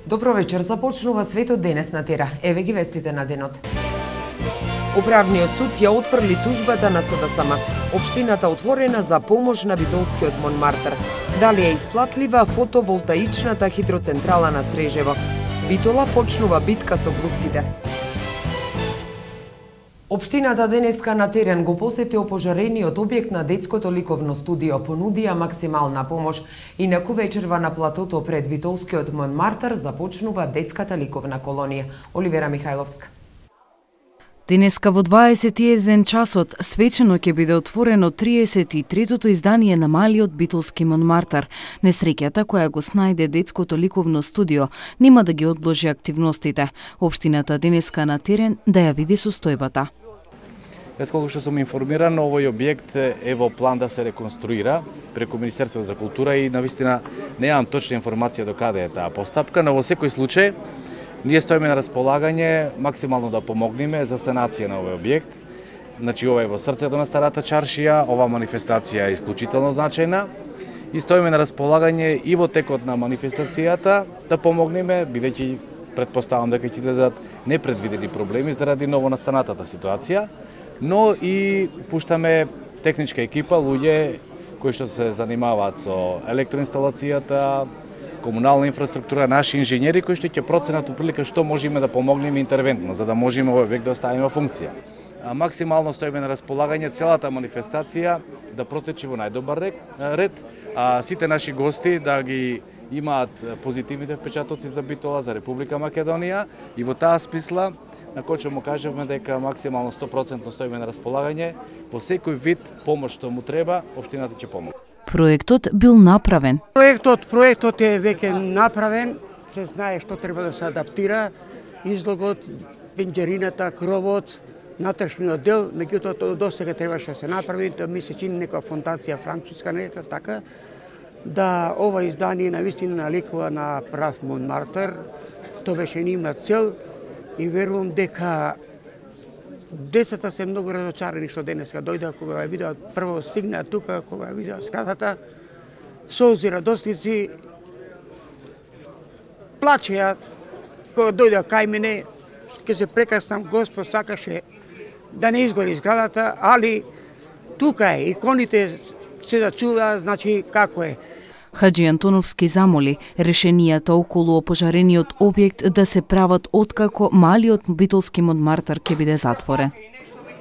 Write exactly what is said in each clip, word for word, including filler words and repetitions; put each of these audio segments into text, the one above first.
Добро вечер, започнува светот денес на Тера. Еве ги вестите на денот. Управниот суд ја отфрли тужбата на СДСМ. Општината отворена за помош на битолскиот Монмартар. Дали е исплатлива фотоволтаичната хидроцентрала на Стрежево? Битола почнува битка со глувците. Општината денеска на терен го посети опожарениот објект на детското ликовно студио, понудија максимална помош. Инаку вечерва на платото пред битолскиот Монмартар започнува детската ликовна колонија. Оливера Михајловска. Денеска во дваесет и еден часот свечено ќе биде отворено триесет и третото издание на малиот битолски Монмартар. Несреќата која го снајде детското ликовно студио нема да ги одложи активностите. Општината денеска на терен да ја види состојбата. Без колку што сум информиран, овој објект е во план да се реконструира преку Министерството за култура и навистина немам точна информација до каде е таа постапка, но во секој случај ние стоиме на располагање максимално да помогнеме за санација на овој објект. Значи ова е во срцето на старата чаршија, ова манифестација е исклучително значајна и стоиме на располагање и во текот на манифестацијата да помогнеме, бидејќи претпоставам дека ќе излезат непредвидени проблеми заради новонастанатата ситуација, но и пуштаме техничка екипа, луѓе кои што се занимаваат со електроинсталацијата, комунална инфраструктура, наши инженери кои што ќе проценат отприлика што можеме да помогнеме интервентно, за да можеме овој објект да оставиме во функција. Максимално стоиме на располагање целата манифестација да протече во најдобар ред, а сите наши гости да ги имаат позитивните впечатоци за Битола, за Република Македонија и во таа смисла на кој што му кажеме дека максимално сто проценти стоиме на располагање, во секој вид помош што му треба, општината ќе помогне. Проектот бил направен. Проектот, проектот е веќе направен, се знае што треба да се адаптира, излогот, пенџерината, кровот, натрешниот дел, меѓутоа до сега требаше да се направи, да ми се чини некоја фондација француска, нека така, да ова издание навистина наликува на прав Монмартар. Тоа беше нивна цел и верувам дека децата се многу разочарани што денеска дојдоа кога ја видеа прво стигнаа тука, кога ја видеа скатата, солзи радосници, плачеа кога дојдоа кај мене, ке се прекаснам, Господ сакаше да не изгори зградата, али тука е, иконите се да чуваат, значи како е. Хаджи Антоновски замоли решенијата околу опожарениот објект да се прават откако малиот битолски Монмартар ќе биде затворен.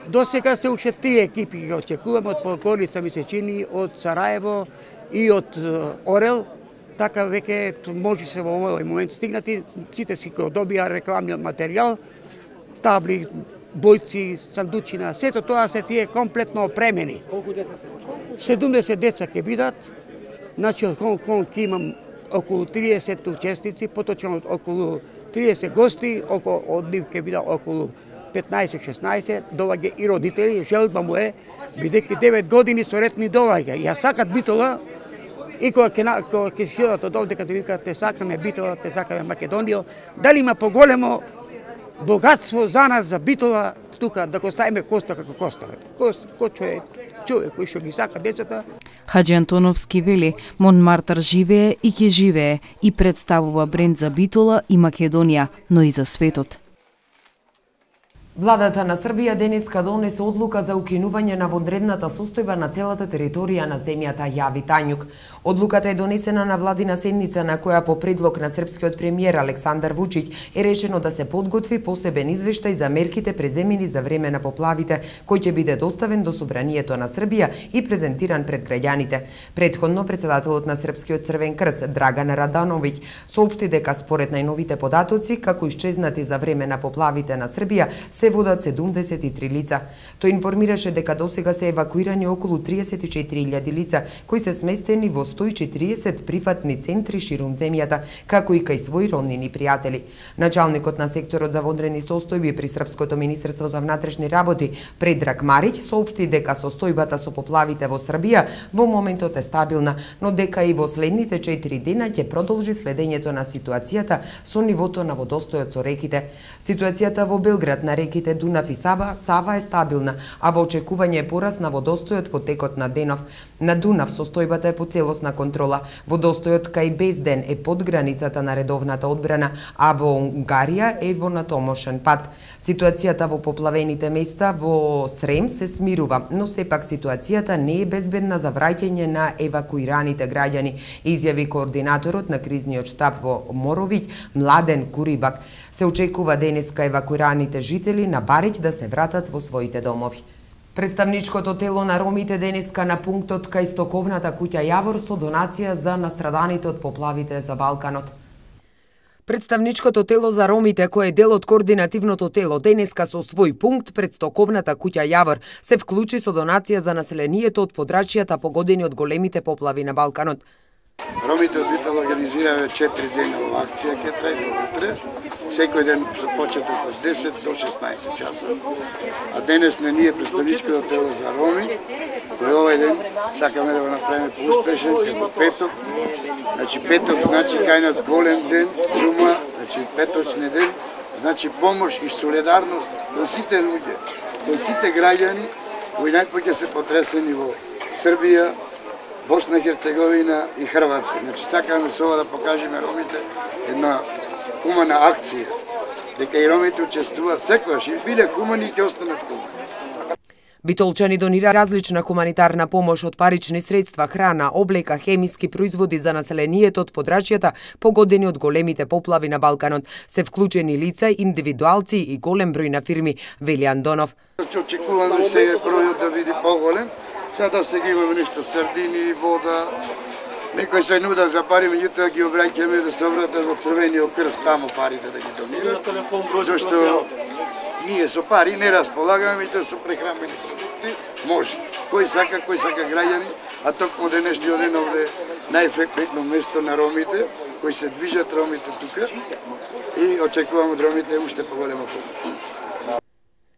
До сега се уште три екипи ги очекуваме од Подгорица, ми се чини, од Сараево и од Орел. Така веќе може се во овој момент стигнати, сите си го добија рекламниот материјал, табли, бојци, сандучина, сето тоа се тие комплетно опремени. Колку деца се? седумдесет деца ќе бидат. Значи, од кон кон ќе имам околу триесет учесници, поточно околу триесет гости, околу од нив ќе бидат околу петнаесет шеснаесет, доваѓа и родители, желба му е, бидејќи девет години со ред ни доваѓа. Ја сакат Битола, и кога ќе кога ќе си одат од овде, като викаат те сакаме Битола, те сакаме Македонија, дали има поголемо богатство за нас, за Битола, тука да го ставиме Коста како Коста. Коста, кој е човек кој што ги сака децата. Хаджи Антоновски вели, Монмартар живее и ќе живее и представува бренд за Битола и Македонија, но и за светот. Владата на Србија денеска донесе одлука за укинување на вонредната состојба на целата територија на земјата, јави Тањук. Одлуката е донесена на владина седница на која по предлог на српскиот премиер Александар Вучиќ е решено да се подготви посебен извештај за мерките преземени за време на поплавите, кој ќе биде доставен до Собранието на Србија и презентиран пред граѓаните. Предходно председателот на Српскиот Црвен крст Драган Радановиќ соопшти дека според најновите податоци како исчезнати за време на поплавите на Србија се водат седумдесет и три лица. Тој информираше дека досега се евакуирани околу триесет и четири илјади лица, кои се сместени во сто и четириесет приватни центри ширум земјата, како и кај своји роднини пријатели. Началникот на секторот за вонредни состојби при Српското министерство за внатрешни работи Предраг Мариќ соопшти дека состојбата со поплавите во Србија во моментот е стабилна, но дека и во следните четири дена ќе продолжи следењето на ситуацијата со нивото на водостојот со реките. Ситуацијата во Белград на реките реките Дунав и Сава, Сава е стабилна, а во очекување е пораст на водостојот во текот на денов. На Дунав состојбата е по целосна контрола. Водостојот кај Безден е под границата на редовната одбрана, а во Унгарија е во натомошен пат. Ситуацијата во поплавените места во Срем се смирува, но сепак ситуацијата не е безбедна за враќање на евакуираните граѓани, изјави координаторот на кризниот штаб во Моровиќ, Младен Курибак. Се очекува денеска евакуираните жители на Бариќ да се вратат во своите домови. Представничкото тело на ромите денеска на пунктот кај стоковната куќа Јавор со донација за настраданите од поплавите за Балканот. Представничкото тело за ромите, кој е дел од координативното тело, денеска со свој пункт пред стоковната куќа Јавор се вклучи со донација за населението од подрачјата погодени од големите поплави на Балканот. Ромите од Битола организираме четири дена во акција, ќе трае до утре. Секој ден со почеток од десет до шеснаесет часа. А денес на ние представничкото тело за роми, кој овој ден сакаме да го направиме поуспешен, како петок. Значи петок значи кај нас голем ден, џума, значи петочни ден, значи помош и солидарност во сите луѓе, во сите граѓани кои најпоќе се потресени во Србија, Босна и Херцеговина и Хрватска. Значи сакаме со ова да покажеме ромите една хумана акција, дека и ромите учествуваат секогаш и биле хумани и ќе останат хумани. Битолчани донира различна хуманитарна помош од парични средства, храна, облека, хемиски производи за населението од подрачјата погодени од големите поплави на Балканот. Се вклучени лица, индивидуалци и голем број на фирми, вели Андонов. Очекуваме се бројот да биде поголем. Сега сега имаме нешто сардини, вода. Некој се нуда за пари, меѓутоа ги обраќаме да се обратат во Црвениот крст таму парите да ги донират. Зашто ние со пари не располагаме, меѓутоа со прехранбени продукти може. Кој сака, кој сака граѓани, а токму денешниот ден овде најфреквентно место на ромите, кои се движат ромите тука и очекуваме од ромите уште поголема помош.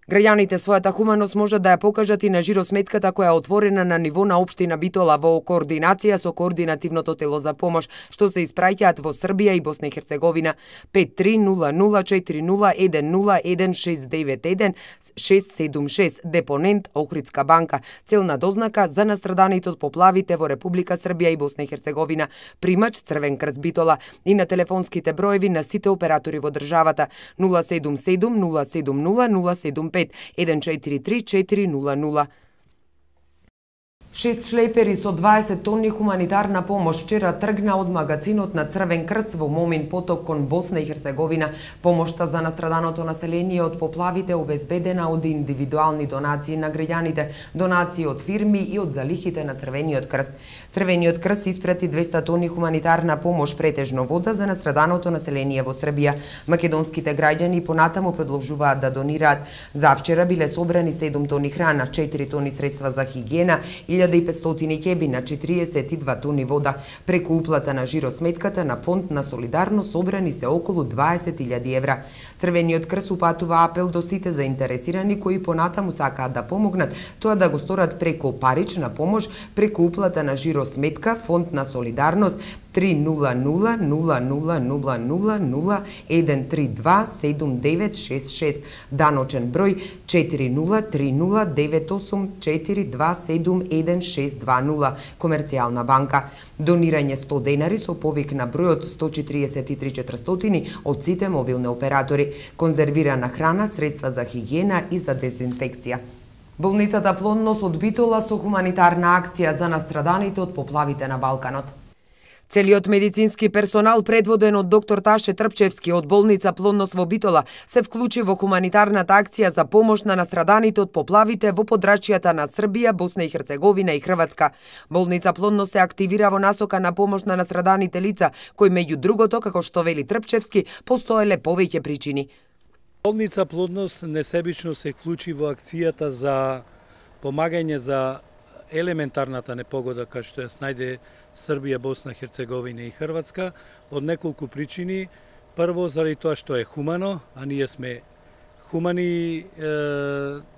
Граѓаните својата хуманост можат да ја покажат и на жиросметката која е отворена на ниво на општина Битола во координација со координативното тело за помош, што се испраќаат во Србија и Босна и Херцеговина. пет три нула нула четири нула еден нула еден шест девет еден шест седум шест, депонент Охридска банка, целна дознака за настраданите од поплавите во Република Србија и Босна и Херцеговина, примач Црвен крст Битола, и на телефонските броеви на сите оператори во државата нула седум седум нула седум нула нула седум пет еден четири три четири нула нула. Шест шлепери со дваесет тонни хуманитарна помош вчера тргна од магазинот на Црвен крст во Момин поток кон Босна и Херцеговина. Помошта за настраданото население од поплавите обезбедена од индивидуални донации на граѓаните, донации од фирми и од залихите на Црвениот крст. Црвениот крст испрати двеста тонни хуманитарна помош, претежно вода, за настраданото население во Србија. Македонските граѓани понатаму продолжуваат да донираат. За вчера биле собрани седум тони храна, четири тони средства за хигиена, илјада и петстотини ќеби на четириесет и два тони вода. Преку уплата на жиросметката на Фонд на солидарност собрани се околу дваесет илјади евра. Црвениот крст упатува апел до сите заинтересирани кои понатаму сакаат да помогнат, тоа да го сторат преку парична помош, преку уплата на жиросметка Фонд на солидарност три нула нула нула нула нула нула нула еден три два седум девет шест шест, даночен број четири нула три нула девет осум четири два седум еден шест два нула, Комерцијална банка. Донирање сто денари со повик на бројот сто четириесет и три четиристотини од сите мобилни оператори, конзервирана храна, средства за хигиена и за дезинфекција. Болницата Плодност од Битола со хуманитарна акција за настраданите од поплавите на Балканот. Целиот медицински персонал, предводен од доктор Таше Трпчевски од болница Плодност во Битола, се вклучи во хуманитарната акција за помош на настраданите од поплавите во подрачјата на Србија, Босна и Херцеговина и Хрватска. Болница Плодност се активира во насока на помош на настраданите лица, кои меѓу другото, како што вели Трпчевски, постоеле повеќе причини. Болница Плодност несебично се вклучи во акцијата за помагање за елементарната непогода кај што ја снајде Србија, Босна, Херцеговина и Хрватска од неколку причини. Прво, заради тоа што е хумано, а ние сме хумани е,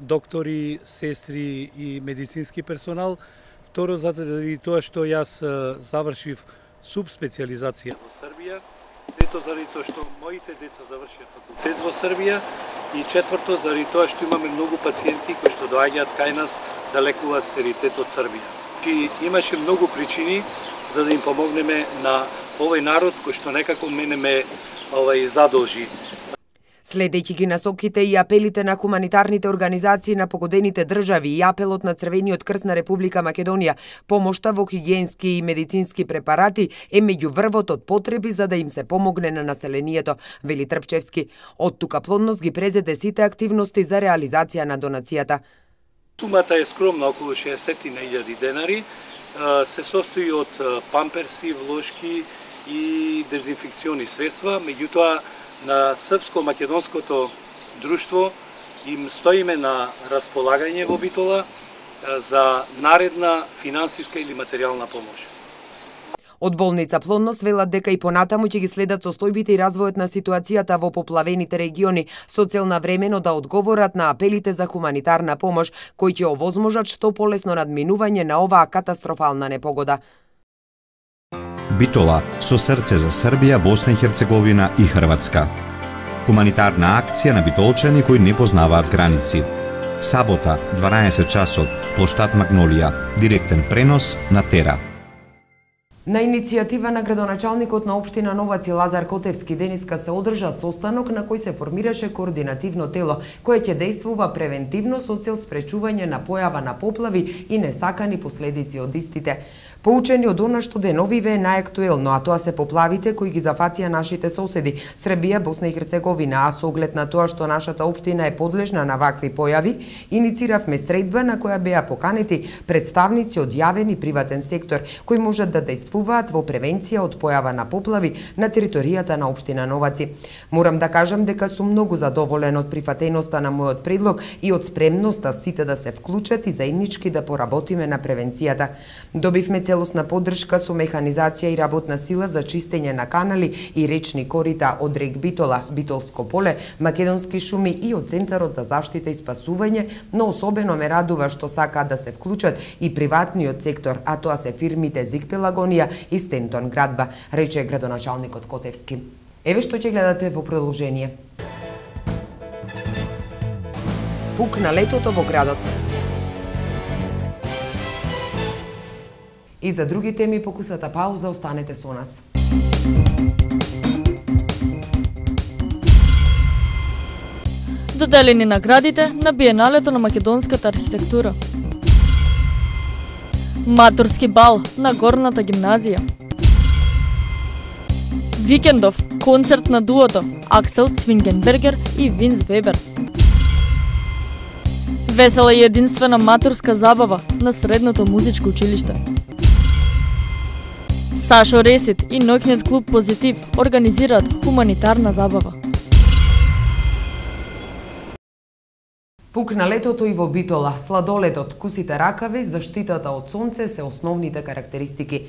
доктори, сестри и медицински персонал. Второ, заради тоа што јас завршив субспециализација во Србија. Трето, заради тоа што моите деца завршија факултет во Србија и четврто, заради тоа што имаме многу пациенти кои што доаѓаат кај нас да лекуваат стерилитет од Србија. И имаше многу причини за да им помогнеме на овој народ кој што некако мене ме овај задолжи. Следејќи ги насоките и апелите на хуманитарните организации на погодените држави и апелот на Црвениот крст на Република Македонија, помошта во хигиенски и медицински препарати е меѓу врвот од потреби за да им се помогне на населението, вели Трпчевски. Од тука плодност ги презеде сите активности за реализација на донацијата. Сумата е скромна, околу шеесет илјади денари, се состои од памперси, влошки и дезинфекциони средства, меѓутоа на српско-македонското друштво им стоиме на располагање во Битола за наредна финансиска или материјална помош. Од болница Плодност велат дека и понатаму ќе ги следат состојбите и развојот на ситуацијата во поплавените региони со цел навремено да одговорат на апелите за хуманитарна помош кои ќе овозможат што полесно надминување на оваа катастрофална непогода. Битола со срце за Србија, Босна и Херцеговина и Хрватска. Хуманитарна акција на битолчани кои не познаваат граници. Сабота, дванаесет часот, плоштад Магнолија, директен пренос на Тера. На иницијатива на градоначалникот на општина Новаци Лазар Котевски денеска се одржа состанок на кој се формираше координативно тело кое ќе действува превентивно со цел спречување на појава на поплави и несакани последици од истите. Поучени од она што деновиве е најактуелно, а тоа се поплавите кои ги зафатија нашите соседи Србија, Босна и Херцеговина, а со оглед на тоа што нашата општина е подлежна на вакви појави, иницииравме средба на која беа поканети представници од јавен и приватен сектор кои можат да действуваат во превенција од појава на поплави на територијата на општина Новаци. Морам да кажам дека сум многу задоволен од прифатеноста на мојот предлог и од спремноста сите да се вклучат и заеднички да поработиме на превенцијата. Добивме целосна поддршка со механизација и работна сила за чистење на канали и речни корита од рек Битола, Битолско поле, Македонски шуми и од Центарот за заштита и спасување, но особено ме радува што сакаат да се вклучат и приватниот сектор, а тоа се фирмите Зик Пелагонија и Стентон Градба, рече градоначалникот Котевски. Еве што ќе гледате во продолжение. Пук на летото во градот. И за други теми покусата пауза, останете со нас. Доделени наградите на Биеналето на македонската архитектура. Матурски бал на Горната гимназија. Викендов концерт на дуото Аксел Цвингенбергер и Винс Вебер. Весела и единствена матурска забава на средното музичко училиште. Сашо Ресит и ноќниот клуб Позитив организираат хуманитарна забава. Пук на летото и во Битола, сладоледот, кусите ракави, заштитата од сонце се основните карактеристики.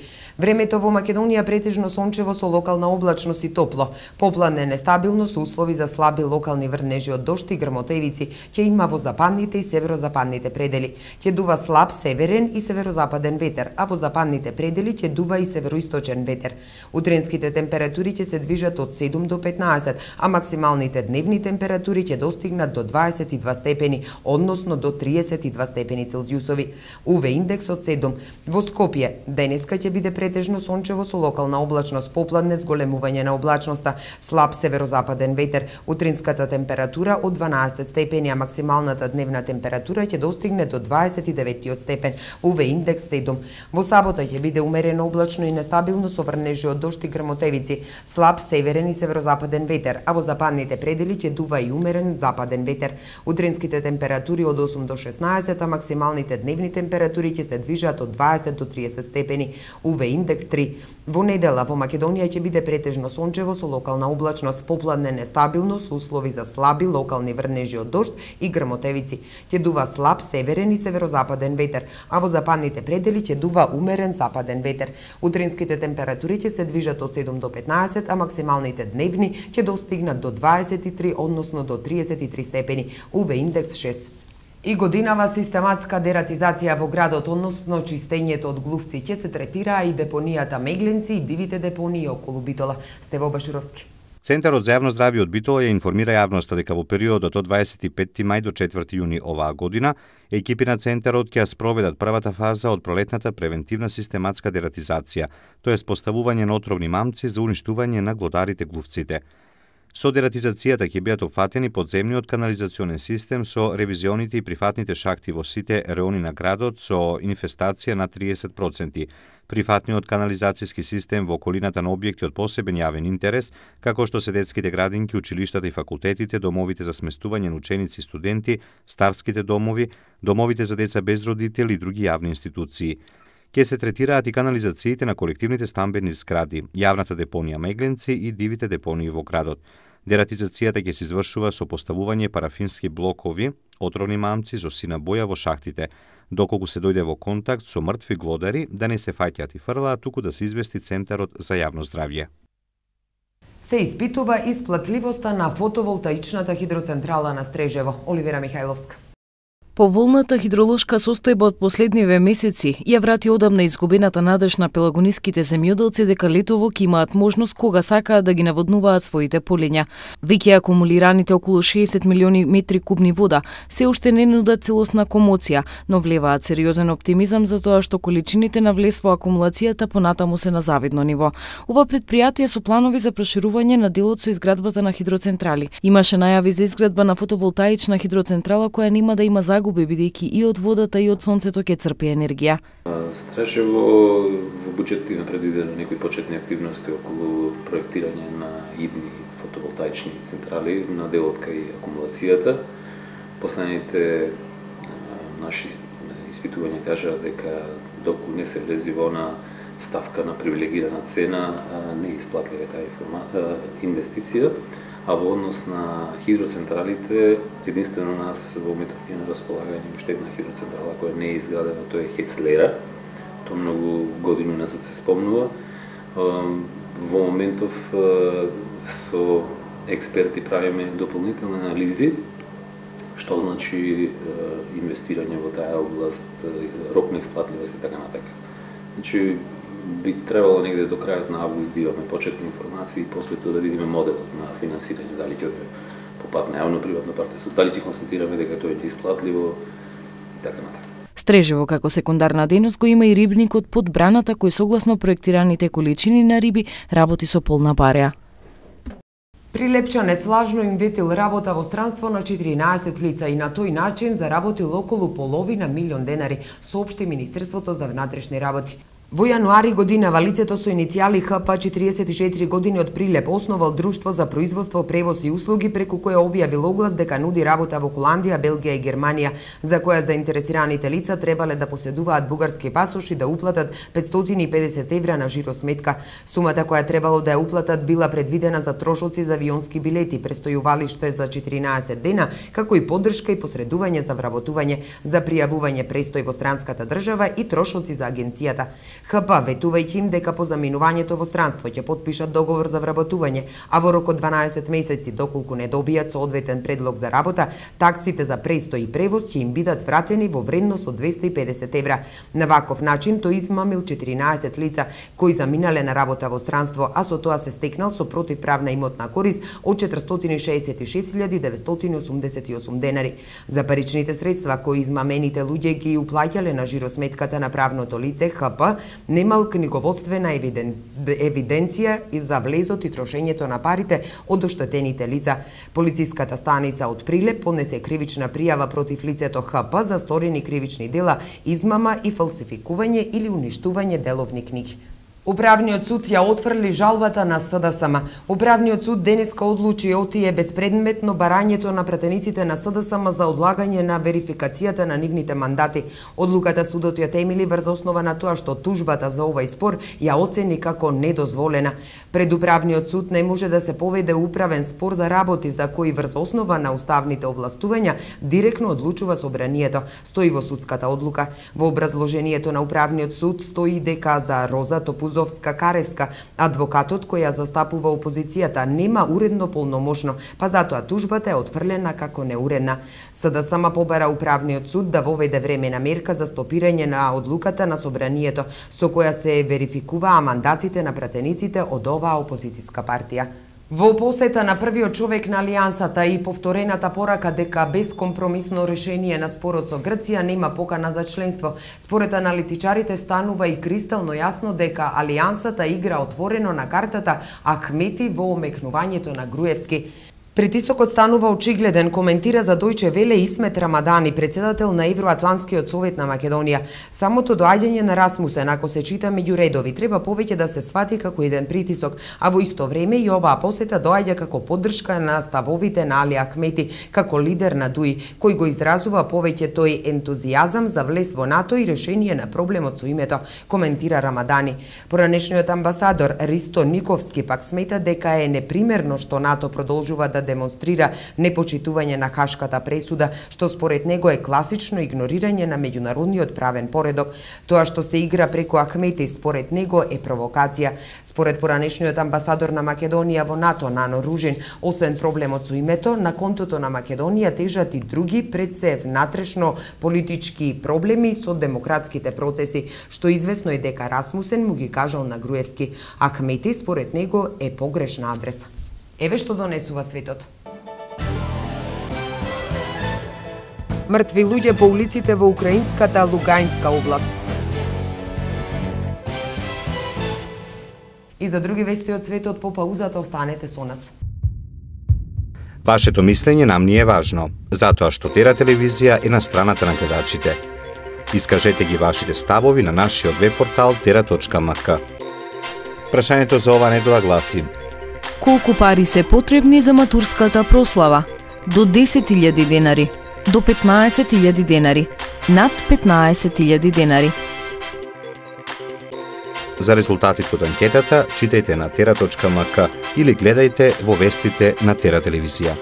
Времето во Македонија претежно сончево со локална облачност и топло. Попладне нестабилно со услови за слаби локални врнежи од дожд и грмотевици ќе има во западните и северозападните предели. Ќе дува слаб северен и северозападен ветер, а во западните предели ќе дува и североисточен ветер. Утренските температури ќе се движат од седум до петнаесет, а максималните дневни температури ќе достигнат до дваесет и два степени, односно до триесет и два степени Целзиусови. У В индекс од седум. Во Скопје денеска ќе биде претежно сончево со локална облачност, попладне зголемување на облачноста, слаб северозападен ветер. Утринската температура од дванаесет степени, а максималната дневна температура ќе достигне до дваесет и деветиот степен. У В индекс седум. Во сабота ќе биде умерено облачно и нестабилно со врнежи од дожд и грмотевици, слаб северен и северозападен ветер, а во западните предели ќе дува и умерен западен ветер. Утринските температури од осум до шеснаесет, а максималните дневни температури ќе се движат од дваесет до триесет степени. У В индекс три. Во недела во Македонија ќе биде претежно сончево со локална облачност, попладне нестабилно со услови за слаби локални врнежи од дожд и грмотевици. Ќе дува слаб северен и северозападен ветер, а во западните предели ќе дува умерен западен ветер. Утринските температури ќе се движат од седум до петнаесет, а максималните дневни ќе достигнат до дваесет и три, односно до триесет и три степени. У В индекс шест. И годинава систематска дератизација во градот, односно чистењето од глувци, ќе се третираа и депонијата Мегленци и дивите депонии околу Битола. Стево Башуровски. Центарот за јавно здравје од Битола ја информира јавноста дека во периодот од дваесет и петти мај до четврти јуни оваа година, екипи на Центарот ќе ја спроведат првата фаза од пролетната превентивна систематска дератизација, тоа е поставување на отровни мамци за уништување на глодарите глувците. Со дератизацијата ќе бидат опфатени подземниот канализационен систем со ревизионите и прифатните шахти во сите реони на градот со инфестација на триесет проценти, прифатниот канализацијски систем во околината на објекти од посебен јавен интерес, како што се детските градинки, училиштата и факултетите, домовите за сместување на ученици и студенти, старските домови, домовите за деца без родители и други јавни институции. Ке се третираат и канализациите на колективните стамбени згради, јавната депонија Мегленци и дивите депонии во градот. Дератизацијата ќе се извршува со поставување парафински блокови, отровни мамци со сина боја во шахтите, доколку се дојде во контакт со мртви глодари да не се фаќаат и фрлаат, туку да се извести Центарот за јавно здравје. Се испитува исплатливоста на фотоволтаичната хидроцентрала на Стрежево. Оливера Михајловска. Поволната хидролошка состојба од последниве месеци ја врати одамна изгубената надеж на пелагониските земјоделци дека летово ќе имаат можност кога сакаат да ги наводнуваат своите полиња. Веќе акумулираните околу шеесет милиони метри кубни вода се уште не нудат целосна комоција, но влеваат сериозен оптимизам за тоа што количините на влез во акумулацијата понатаму се на завидно ниво. Ова претпријатие со планови за проширување на делот со изградбата на хидроцентрали. Имаше најави за изградба на фотоволтаична хидроцентрала која нема да има загуби бидејќи и од водата и од сонцето ќе црпи енергија. Стрежево во буџет има предвидено некои почетни активности околу проектирање на идни фотоволтаични централи на делот кај акумулацијата. Последните наши испитувања кажаат дека доколку не се влези во на ставка на привилегирана цена, не е исплатлива таа инвестиција. А во однос на хидроцентралите, единствено нас во моментот е на располагање уште една хидроцентрала која не е изградена, тоа е Хецлера. Тоа многу години назад се спомнува. Во моментов со експерти правиме дополнителни анализи, што значи инвестирање во таа област, рок на исплатливост и така натака. Значи, би требало негде до крајот на август да имаме почетни информации и после тоа да видиме моделот на финансирање, дали ќе оде по пат на јавно-приватно партнерство, дали ќе констатираме дека тоа е неисплатливо и така натака. Стрежево како секундарна дејност го има и рибникот под браната кој согласно проектираните количини на риби работи со полна бареа. Прилепчанец лажно им ветил работа во странство на четиринаесет лица и на тој начин заработил околу половина милион денари, соопшти Министерството за внатрешни работи. Во јануари годинава лицето со иницијали Х П четириесет и четири години од Прилеп основал друштво за производство, превоз и услуги преку кое објавил оглас дека нуди работа во Холандија, Белгија и Германија, за која заинтересираните лица требале да поседуваат бугарски пасош и да уплатат петстотини и педесет евра на жиросметка. Сумата која требало да ја уплатат била предвидена за трошоци за авионски билети, престојувалиште за четиринаесет дена, како и поддршка и посредување за вработување, за пријавување престој во странската држава и трошоци за агенцијата. Х П, ветувајќи им дека по заминувањето во странство ќе потпишат договор за вработување, а во рок од дванаесет месеци, доколку не добијат соодветен предлог за работа, таксите за престој и превоз ќе им бидат вратени во вредност од двесте и педесет евра. На ваков начин тој измамил четиринаесет лица кои заминале на работа во странство, а со тоа се стекнал со противправна имотна корист од четиристотини шеесет и шест илјади деветстотини осумдесет и осум денари. За паричните средства кои измамените луѓе ги уплаќале на жиросметката на правното лице, Х П немал книговодствена евиден... евиденција и за влезот и трошењето на парите од оштетените лица. Полициската станица од Прилеп поднесе кривична пријава против лицето Х П за сторени кривични дела, измама и фалсификување или уништување деловни книги. Управниот суд ја отфрли жалбата на С Д С М. Управниот суд денеска одлучи отие безпредметно барањето на пратениците на С Д С М за одлагање на верификацијата на нивните мандати. Одлуката судот ја темели врз основа на тоа што тужбата за овај спор ја оцени како недозволена. Пред управниот суд не може да се поведе управен спор за работи за кои врз основа на уставните овластувања директно одлучува собранието, стои во судската одлука. Во образложението на управниот суд стои дека за Роза Топузова Бузовска-Каревска, адвокатот кој ја застапува опозицијата, нема уредно полномошно, па затоа тужбата е отфрлена како неуредна. СДСМ побара управниот суд да воведе времена мерка за стопирање на одлуката на собранието, со која се верификуваа мандатите на пратениците од оваа опозицијска партија. Во посета на првиот човек на Алијансата и повторената порака дека безкомпромисно решение на спорот со Грција нема покана за членство, според аналитичарите станува и кристално јасно дека Алијансата игра отворено на картата Ахмети во омекнувањето на Груевски. Притисокот станува очигледен, коментира за Дојче Веле Исмет Рамадани, председател на Евроатланскиот совет на Македонија. Самото доаѓање на Расмусен, ако се чита меѓу редови, треба повеќе да се свати како еден притисок, а во исто време и оваа посета доаѓа како поддршка на ставовите на Али Ахмети, како лидер на ДУИ, кој го изразува повеќе тој ентузијазам за влез во НАТО и решение на проблемот со името, коментира Рамадани. Поранешниот амбасадор Ристо Никовски пак смета дека е непримерно што НАТО продолжува да демонстрира непочитување на Хашката пресуда, што според него е класично игнорирање на меѓународниот правен поредок. Тоа што се игра преку Ахмети според него е провокација. Според поранешниот амбасадор на Македонија во НАТО Нано Ружин, освен проблемот со името, на контото на Македонија тежат и други пред се внатрешно политички проблеми со демократските процеси, што известно е дека Расмусен му ги кажал на Груевски. Ахмети според него е погрешна адреса. Еве што донесува светот. Мртви луѓе по улиците во украинската Луганска област. И за други вести од светот по паузата останете со нас. Вашето мислење нам ни е важно, затоа што Тера телевизија е на страната на гледачите. Искажете ги вашите ставови на нашиот веб портал тера точка ем ка. Прашањето за ова недела гласи: колку пари се потребни за матурската прослава? До десет илјади денари, до петнаесет илјади денари, над петнаесет илјади денари. За резултатите од анкетата читајте на тера точка ем ка или гледајте во вестите на Тера телевизија.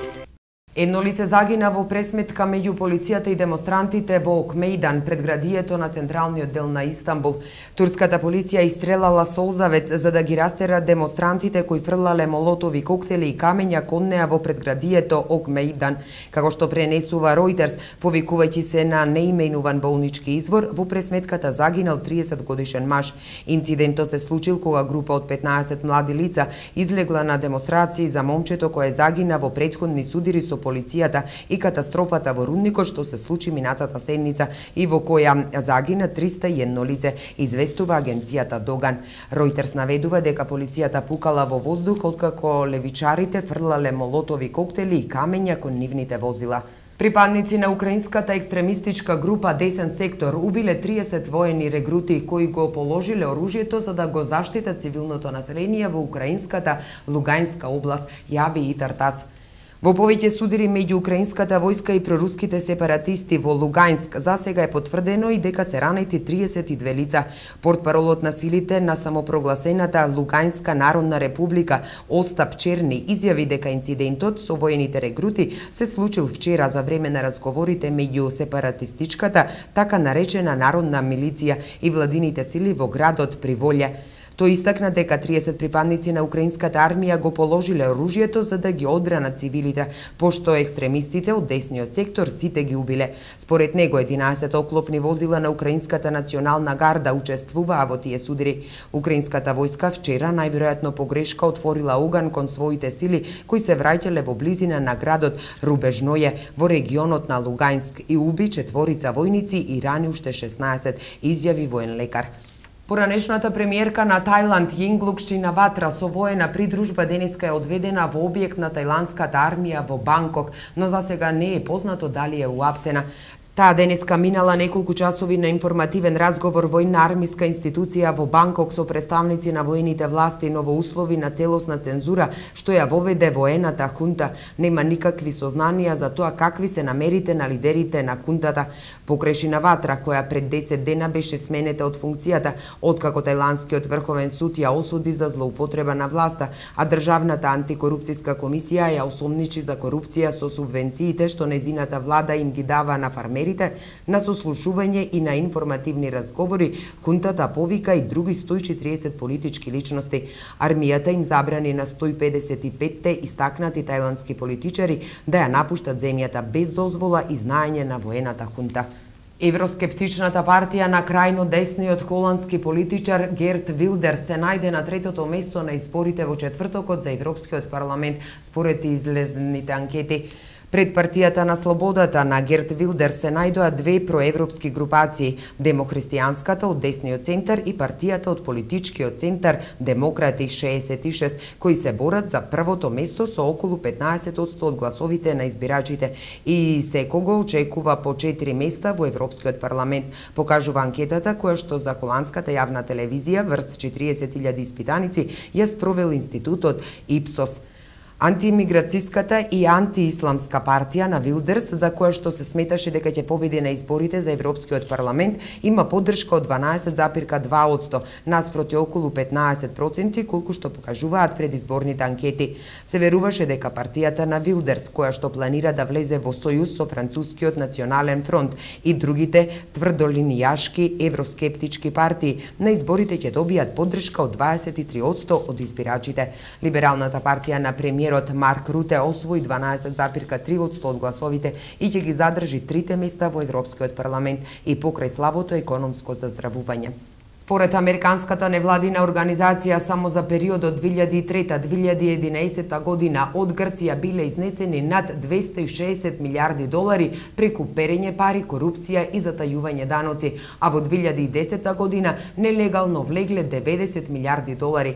Едно лице загина во пресметка меѓу полицијата и демонстрантите во Окмејдан, предградието на централниот дел на Истанбул. Турската полиција истрелала солзавец за да ги растера демонстрантите кои фрлале молотови коктели и камења кон неа во предградието Окмејдан. Како што пренесува Reuters, повикувајќи се на неименуван болнички извор, во пресметката загинал триесет годишен маж. Инцидентот се случил кога група од петнаесет млади лица излегла на демонстрации за момчето кое загина во претходни судири со полицијата и катастрофата во рудникот што се случи минатата седница и во која загина триста и едно лице, известува агенцијата Доган. Reuters наведува дека полицијата пукала во воздух откако левичарите фрлале молотови коктели и камења кон нивните возила. Припадници на украинската екстремистичка група Десен сектор убиле триесет воени регрути кои го положиле оружјето за да го заштитат цивилното население во украинската Луганска област, јави и Тартас. Во повеќе судири меѓу украинската војска и проруските сепаратисти во Луганск засега е потврдено и дека се ранети триесет и две лица. Портпаролот на силите на самопрогласената Луганска народна република Остап Черни изјави дека инцидентот со воените регрути се случил вчера за време на разговорите меѓу сепаратистичката така наречена народна милиција и владините сили во градот Приволје. Тој истакна дека триесет припадници на украинската армија го положиле оружјето за да ги одбранат цивилите, пошто екстремистите од десниот сектор сите ги убиле. Според него единаесет оклопни возила на украинската национална гарда учествуваа во тие судири. Украинската војска вчера најверојатно погрешка отворила оган кон своите сили кои се враќале во близина на градот Рубежное во регионот на Луганск и уби четворица војници и рани уште шеснаесет, изјави воен лекар. Поранешната премиерка на Тајланд Јинглук Шинаватра со воена придружба денеска е одведена во објект на тајландската армија во Банкок, но засега не е познато дали е уапсена. Таа денеска минала неколку часови на информативен разговор војна армиска институција во Банкок со представници на воените власти, но во услови на целосна цензура што ја воведе воената хунта. Нема никакви сознанија за тоа какви се намерите на лидерите на хунтата. Покрај Шинаватра, која пред десет дена беше сменета од функцијата, откако тајландскиот врховен суд ја осуди за злоупотреба на власта, а државната антикорупцијска комисија ја осомничи за корупција со субвенциите што незината влада им ги дава на фармери премиерите на сослушување и на информативни разговори, хунтата повика и други сто и четириесет политички личности. Армијата им забрани на сто и педесет и петте истакнати тајландски политичари да ја напуштат земјата без дозвола и знаење на воената хунта. Евроскептичната партија на крајно десниот холандски политичар Герт Вилдерс се најде на третото место на изборите во четвртокот за Европскиот парламент според излезните анкети. Пред партијата на слободата на Герт Вилдерс се најдоа две проевропски групации, демохристијанската од десниот центар и партијата од политичкиот центар Демократи шеесет и шест, кои се борат за првото место со околу петнаесет одсто од гласовите на избирачите и секого очекува по четири места во Европскиот парламент, покажува анкетата која што за холандската јавна телевизија врз четириесет илјади испитаници ја спровел институтот Ипсос. Антиимиграцијската и антиисламска партија на Вилдерс, за која што се сметаше дека ќе победи на изборите за Европскиот парламент, има поддршка од дванаесет зарез два одсто, наспроти околу петнаесет проценти, колку што покажуваат предизборните анкети. Се веруваше дека партијата на Вилдерс, која што планира да влезе во сојуз со Францускиот национален фронт и другите тврдолинијашки евроскептички партии, на изборите ќе добијат поддршка од дваесет и три одсто од избирачите. Либералната партија на премиер Марк Руте освои дванаесет зарез три одсто од гласовите и ќе ги задржи трите места во Европскиот парламент и покрај слабото економско заздравување. Според Американската невладина организација, само за периодот две илјади и трета до две илјади и единаесета година од Грција биле изнесени над двесте и шеесет милиарди долари преку перење пари, корупција и затајување даноци, а во две илјади и десета година нелегално влегле деветдесет милиарди долари.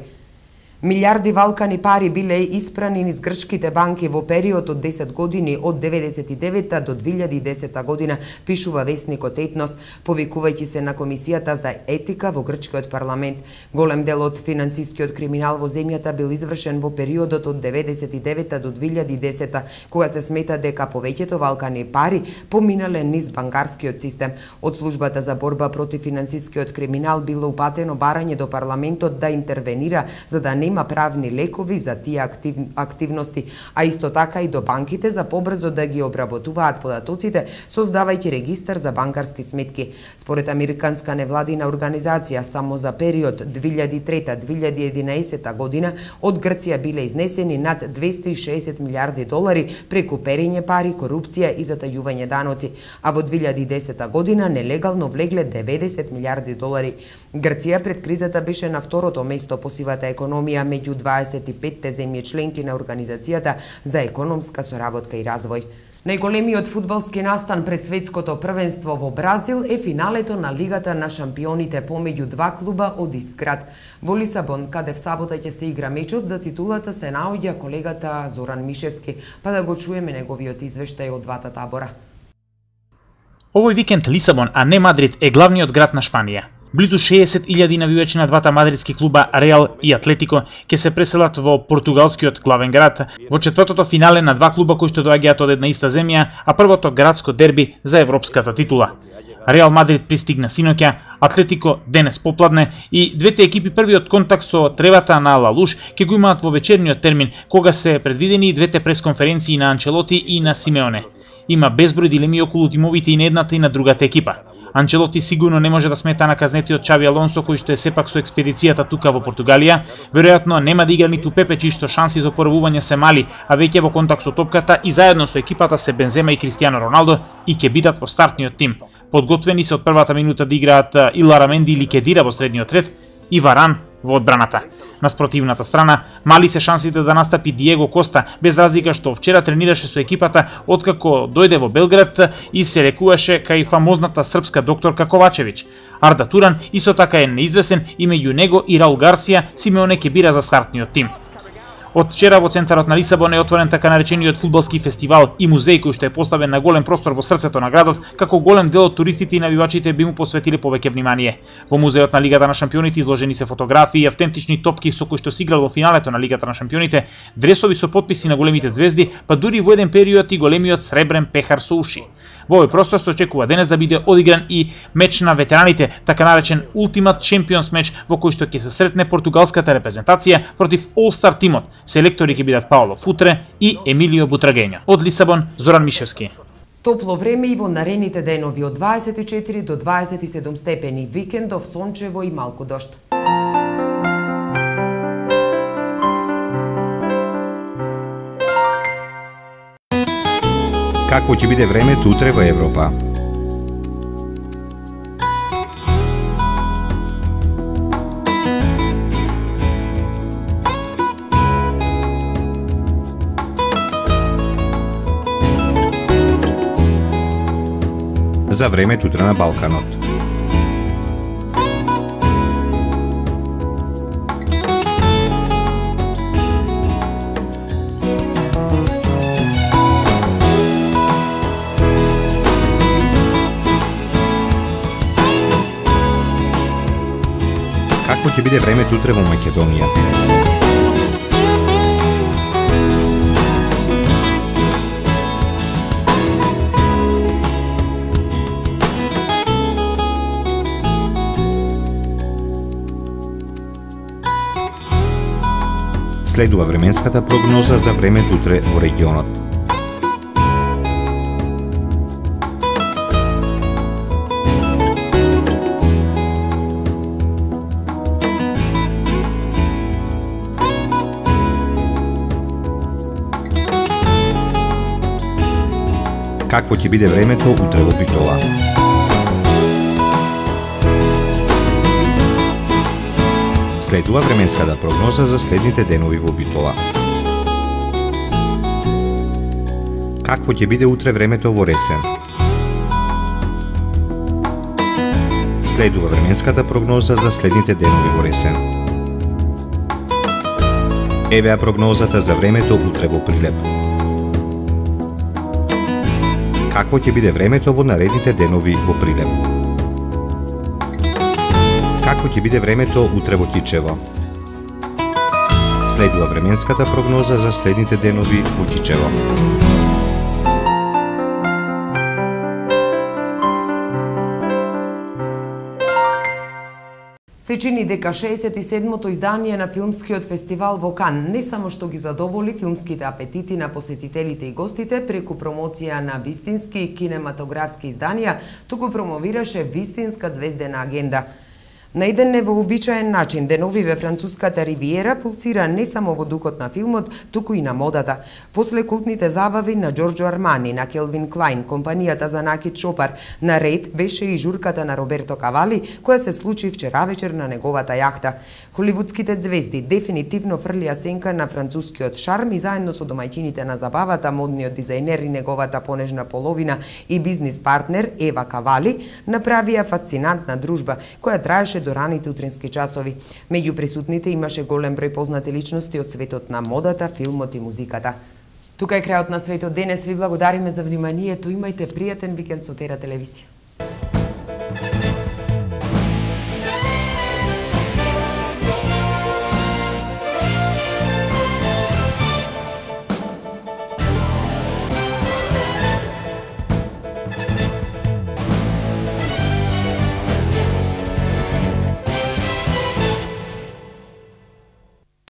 Милиарди валкани пари биле испрани низ грчките банки во период од десет години од деветдесет и девета до две илјади и десета година, пишува весникот Етнос, повикувајќи се на Комисијата за етика во грчкиот парламент. Голем дел од финансискиот криминал во земјата бил извршен во периодот од деветдесет и девета до две илјади и десета, кога се смета дека повеќето валкани пари поминале низ банкарскиот систем. Од службата за борба против финансискиот криминал било упатено барање до парламентот да интервенира за да не има правни лекови за тие актив, активности, а исто така и до банките за побрзо да ги обработуваат податоците, создавајќи регистар за банкарски сметки. Според Американска невладина организација, само за период две илјади и трета до две илјади и единаесета година од Грција биле изнесени над двесте и шеесет милиарди долари преку перење пари, корупција и затајување даноци, а во две илјади и десета година нелегално влегле деветдесет милиарди долари. Грција пред кризата беше на второто место по сивата економија меѓу дваесет и петте земји членки на Организацијата за економска соработка и развој. Најголемиот фудбалски настан пред светското првенство во Бразил е финалето на Лигата на шампионите помеѓу два клуба од ист град. Во Лисабон, каде в сабота ќе се игра мечот за титулата, се наоѓа колегата Зоран Мишевски, па да го чуеме неговиот извештај од двата табора. Овој викенд Лисабон, а не Мадрид, е главниот град на Шпанија. Близу шеесет илјади навивачи на двата мадридски клуба Реал и Атлетико ќе се преселат во португалскиот главен град во четвртото финале на два клуба кои што доаѓаат од една иста земја, а првото градско дерби за европската титула. Реал Мадрид пристигна синоќа, Атлетико денес попладне и двете екипи првиот контакт со тревата на Ла Луш ќе го имаат во вечерниот термин, кога се предвидени и двете пресконференции на Анчелоти и на Симеоне. Има безброј дилеми околу тимовите и на едната и на другата екипа. Анчелоти сигурно не може да смета на казнетиот Чави Алонсо, кој што е сепак со експедицијата тука во Португалија. Веројатно нема да игра ниту Пепе, чии што шанси за опорвување се мали, а веќе во контакт со топката и заедно со екипата се Бензема и Кристијано Роналдо и ќе бидат во стартниот тим. Подготвени се од првата минута да играат и Лараменди или Кедира во средниот ред и Варан во одбраната. На спротивната страна, мали се шансите да настапи Диего Коста, без разлика што вчера тренираше со екипата откако дојде во Белград и се рекуваше кај фамозната српска докторка Ковачевиќ. Арда Туран исто така е неизвесен и меѓу него и Раул Гарсија Симеоне ќе бира за стартниот тим. Од вчера во центарот на Лисабон е отворен така наречениот фудбалски фестивал и музеј кој што е поставен на голем простор во срцето на градот, како голем дел од туристите и навивачите би му посветиле повеќе внимание. Во музеот на Лигата на шампионите изложени се фотографии и автентични топки со кои што се играл во финалето на Лигата на шампионите, дресови со потписи на големите звезди, па дури во еден период и големиот сребрен пехар со уши. Во овој простор се очекува денес да биде одигран и меч на ветераните, така наречен Ultimate Champions меч, во кој што ќе се сретне португалската репрезентација против All-Star тимот. Селектори ќе бидат Паоло Футре и Емилио Бутрагењо. Од Лисабон, Зоран Мишевски. Топло време и во наредните денови од дваесет и четири до дваесет и седум степени, викендов сончево и малку дожд. Какво ќе биде времето утре во Европа? За времето утре на Балканот. Какво ќе биде времето утре во Македонија? Следува временската прогноза за времето утре во регионот. Какво ќе биде времето утре во Битола? Следува временската прогноза за следните денови во Битола. Какво ќе биде утре времето во Ресен? Следува временската прогноза за следните денови во Ресен. Евеа прогнозата за времето утре во Прилеп. Какво ќе биде времето во наредните денови во Прилеп? Какво ќе биде времето утре во Кичево? Следува временската прогноза за следните денови во Кичево. Се чини дека шеесет и седмото издание на филмскиот фестивал во Кан не само што ги задоволи филмските апетити на посетителите и гостите преку промоција на вистински кинематографски изданија, туку промовираше вистинска звездена агенда. На еден невообичаен начин, деновиве француската ривиера пулсира не само во духот на филмот, туку и на модата. После култните забави на Джорджо Армани, на Келвин Клайн, компанијата за накид шопар, на ред беше и журката на Роберто Кавали, која се случи вчера вечер на неговата јахта. Холивудските звезди дефинитивно фрлија сенка на францускиот шарм и заедно со домаќините на забавата, модниот дизајнер и неговата понежна половина и бизнис партнер Ева Кавали направија фасцинантна дружба, која траеше до раните утрински часови. Меѓу присутните имаше голем број познати личности од светот на модата, филмот и музиката. Тука е крајот на светот денес. Ви благодариме за вниманието. Имајте пријатен викенд со Тера телевизија.